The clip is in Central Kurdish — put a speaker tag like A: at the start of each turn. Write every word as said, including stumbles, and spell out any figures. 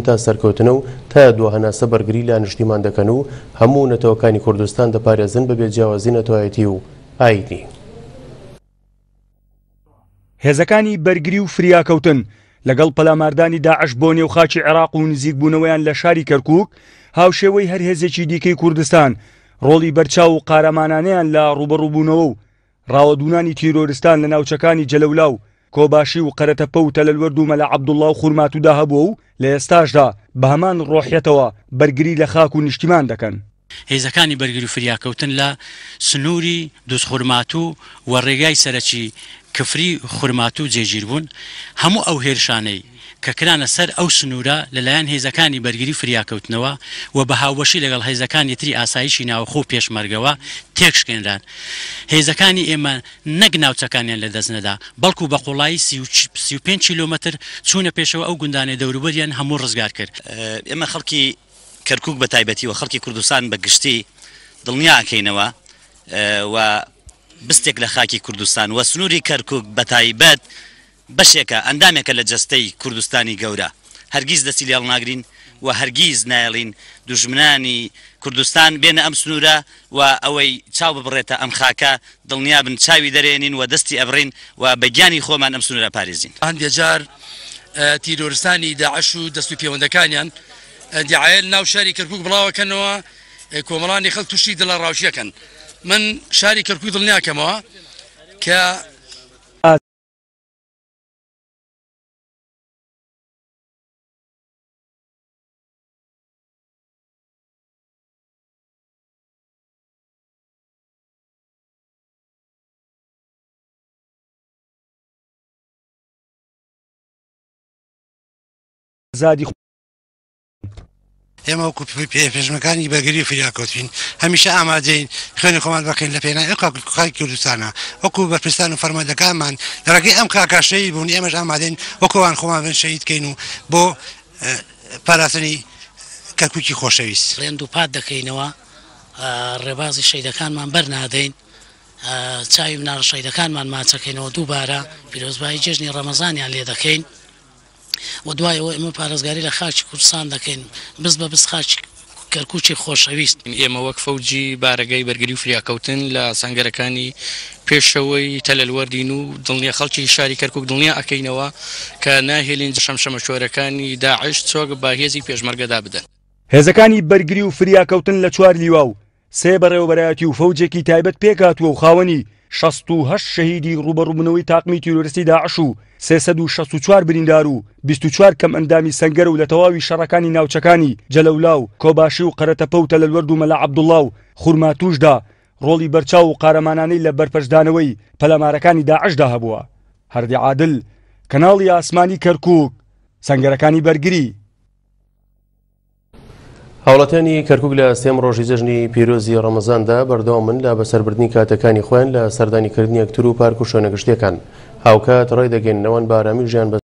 A: تا سەرکەوتنە و تا دوا هەناسە بەرگری لە نیشتیمان دەکەن و هەموو نەتەوەکانی کوردستان دەپارێزن بەبێ جیاوازی نەتەوایەتی و ئایینی.
B: هێزەکانی بەرگری و فریاکەوتن لەگەڵ پەلاماردانی داعش بۆ نێو خاکی عێراق و نزیکبوونەوەیان لە شاری کەرکوک هاوشێوەی هەر هێزێکی دیکەی کوردستان ڕۆڵی بەرچاو و قارەمانانەیان لە ڕوبەڕووبوونەوە و ڕاوەدوونانی تیرۆرستان لە ناوچەکانی جەلەولا و کۆباشی و قەرەتەپە و تەلەلوەرد و مەلا عەبدوڵڵا و خورماتودا هەبووە و لە ئێستاشدا بە هەمان ڕۆحیەتەوە بەرگری لە خاک و نیشتیمان دەکەن.
C: هێزەکانی بەرگری و فریاکەوتن لە سنووری دووزخورماتوو و ڕێگای سەرەکی کفری خورماتوو جێگیر بوون. هەموو ئەو هێرشانەی کە کرانە سەر ئەو سنوورە لەلایەن هێزەکانی بەرگری فریاکەوتنەوە و بە هاوبەشی لەگەڵ هێزەکانی تری ئاسایشی ناوخۆ و پێشمەرگەوە تێکشکێنران. هێزەکانی ئێمە نەک ناوچەکانیان لەدەست نەدا، بەڵکو بە قوڵایی سی و پێنج کیلۆمەتر چوونە پێشەوە ئەو گوندانەی دەوروبەریان هەموو ڕزگار کرد.
D: ئێمە خەڵکی کەرکوک بە تایبەتی و خەڵکی کوردستان بە گشتی دڵنیاکەینەوە و بستێک لە خاکی کوردستان و سنووری کەرکوک بە تایبەت بەشێکە ئەندامێکە لە جەستەی کوردستانی گەورە. هەرگیز دەستی لێڵ ناگرین و هەرگیز نایڵین دوژمنانی کوردستان بێنە ئەم سنوورە و ئەوەی چاو ببڕێتە ئەم خاکە دڵنیا بن چاوی دەرێنین و دەستی ئەبڕین و بە گیانی خۆمان ئەم سنوورە پارێزین.
E: هەندێک جار تیرۆرستانی داعش و دەست و پەیوەندەکانیان دیعایە ناو شاری کەرکوک بڵاوەکەنەوە، کۆمەڵانی خەڵک تووشی دڵەڕاوکیەکەن. من شاری کەرکوک دڵنیاکەمەوە کە
B: زادی
F: ئێمە وەکو پێشمەکانی بەرگری فریاکەوتین هەمیشە ئامادەین خوێنی خۆمان بەخێن لە پێناوی ئەو خاکی کوردستانە. وەکو بەرپرسان و فەرماندەکانمان لە ڕێگەی ئەم خاکە شەهید بوون، ئێمەش ئامادەین وەکوان خۆمان بن شەهید کەین و بۆ پاراستنی کەرکوکی خۆشەویست.
G: ڕێن دووپات دەکەینەوە ڕێبازی شەهیدەکانمان بەرنادەین، چاوی مناڵە شەهیدەکانمان ماچەکەینەوە، دووبارە پیرۆزبایی جێژنی ڕەمەزانیان لێ دەکەین و دوای ئەوە ئێمە پارێزگاری لە خاکی کوردستان دەکەین، بز بە بز خاکی کەرکوکی خۆشەویست.
H: ئێمە وەک فەوجی بارەگای بەرگری و فریاکەوتن لە سەنگەرەکانی پێشەوەی تەلەلوەردین و دڵنیا خەڵکی شاری کەرکوک دڵنیا ئەکەینەوە کە ناهێلین شەمشەمەشۆرەکانی داعش چۆک بە هێزی پێشمەرگەدا بدەن.
B: هێزەکانی بەرگری و فریاکەوتن لە چوار لیوا و سێ بەڕێوەبەرایەتی و فەوجێکی تایبەت پێکهاتووە و خاوەنی شەست و هەشت شەهیدی ڕوبەڕووبوونەوەی تاقمی تیرۆریستی داعش و سێسەد و شەست و چوار بریندار و بیست و چوار کەم ئەندامی سەنگەر و لە تەواوی شەڕەکانی ناوچەکانی جەلەولا و کۆباشی و قەرەتەپە و تەلەلوەرد و مەلا عەبدوڵڵا و خورماتوشدا ڕۆڵی بەرچاو و قارەمانانەی لە بەرپەرچدانەوەی پەلامارەکانی داعشدا هەبووە. هەردی عادل، کەناڵی ئاسمانی کەرکوک، سەنگەرەکانی بەرگری.
A: هاوڵاتیانی کەرکوک لە سێم ڕۆژی جەژنی پیرۆزی ڕەمەزاندا بەردەوامن لە بەسەربردنی کاتەکانی خۆیان لە سەردانیکردنی یەکتر و پارک و شوێنە گشتیەکان. هاوکات ڕێدەگەیننەوەن بە ئارامی ژیان بە